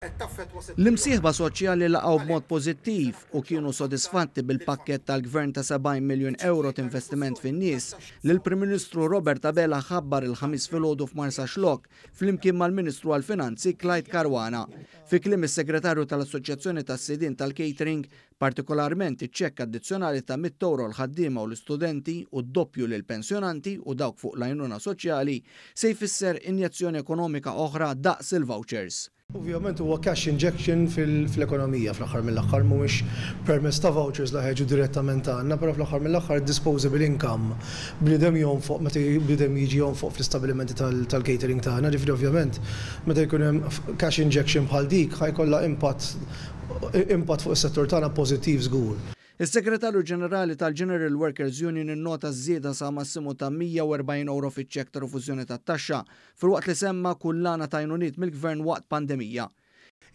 L-imsieħba soċjali laqgħu b'mod pożittiv u kienu sodisfatti bil-pakkett tal-Gvern ta' 70 miljun ewro t'investiment fin-nies li l-Prim Ministru Robert Abela ħabbar il-Ħamis filgħodu f'Marsaxlokk flimkien mal-Ministru għall-Finanzi Clyde Caruana. Fi kliem is-Segretarju tal-Assoċjazzjoni tas-Sidien tal-Catering, partikolarment iċ-ċekk addizzjonali ta' €100 l-ħaddiema u l-istudenti u d-doppju lill-pensjonanti u dawk fuq l-għajnuna soċjali, se jfisser injezzjoni ekonomika oħra daqs il-vouchers. Ovvjament huwa cash injection fl-ekonomija fl-aħħar mill-aħħar, mhuwiex permezz ta' vouchers li ħa jiġu direttament għandna, però fl-aħħar mill-aħħar disposable income bniedem jonfoq meta bniedem jiġi jonfoq fl-istabbilimenti tal-catering tagħna, ġifieri ovvjament meta jkun hemm cash injection bħal dik ħa jkollha impatt impatt fuq is-settur tagħna pożittiv żgur. Is-Segretarju Ġenerali tal-General Workers Union innota żieda sa massimu ta' €140 fiċ-ċekk ta' rifużjoni tat-taxxa, filwaqt li semma kullana ta' għajnuniet mill-Gvern waqt pandemija.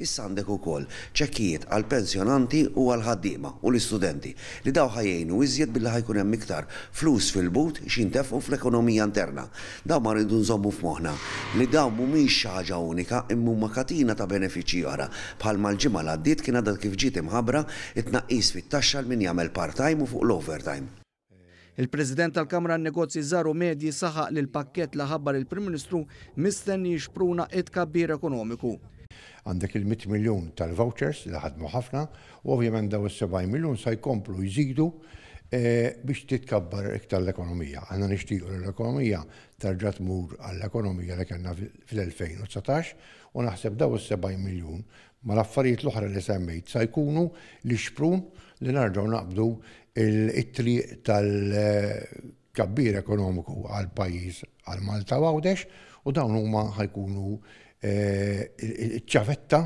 Issa għandek ukoll ċekkijiet għall-pensjonanti u għall-ħaddiema u l-istudenti li dawn ħa jgħinu iżjed billi ħa jkun hemm iktar flus fil-but x'jintefqu fl-ekonomija interna. Dawn ma rridu nżommu f'moħħna li dawn mhumiex xi ħaġa unika imma huma katina ta' benefiċċji oħra bħalma l-ġimgħa l-għaddiet kien għadha kif ġiet imħabbra t-tnaqqis fit-taxxa għal min jagħmel part-time u fuq l-overtime. Il-President tal-Kamra għan-Negozji Żgħar u Medji saħaq li l-pakkett li ħabbar il-Prim Ministru mistenni jixpruna t-tkabbir ekonomiku. Għandek il-100 miljun tal-vouchers li ħadmu ħafna u ovvjament daw is-70 miljun sa jkomplu jżidu biex titkabbar iktar l-ekonomija. Aħna nixtiequ li l-ekonomija terġa' tmur għall-ekonomija li kellna fl-2019 u naħseb daw is-70 miljun mal-affarijiet l-oħra li semmejt sa jkunu l-ixprun li nerġgħu naqbdu it-triq tal-tkabbir ekonomiku għal-pajjiż, għal Malta u Għawdex, u dawn huma ħa jkunu ċ-ċavetta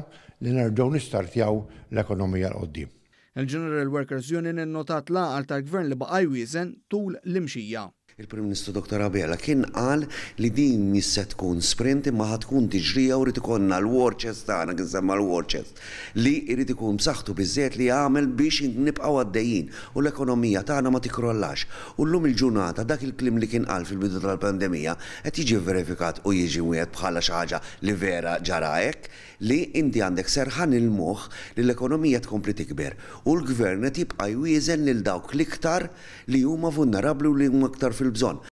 li nerġgħu nistartjaw l-ekonomija 'l quddiem. Il-General Workers Union innotat l-għaqal tal-Gvern li baqa' jwieżen tul l-imxija. Il-Prim Ministru Dottor Abela kien qal li din mhix se tkun sprint imma ħa tkun tiġrija u rrid ikollna l-war chest tagħna, kien semma l-war chest, li jrid ikun b'saħħtu biżżejjed li jagħmel biex nibqgħu għaddejjin u l-ekonomija tagħna ma tikkrollax. U llum il-ġurnata dak il-kliem li kien qal fil-bidu tal-pandemija qed jiġi vverifikat u jiġi mwiegħed bħala xi ħaġa li vera ġara hekk, li inti għandek serħan il-moħħ li l-ekonomija tkompli tikber u l-Gvern qed jibqa' jwieżen lil dawk l-iktar li huma vulnerabbli u li huma iktar fil-bżonn.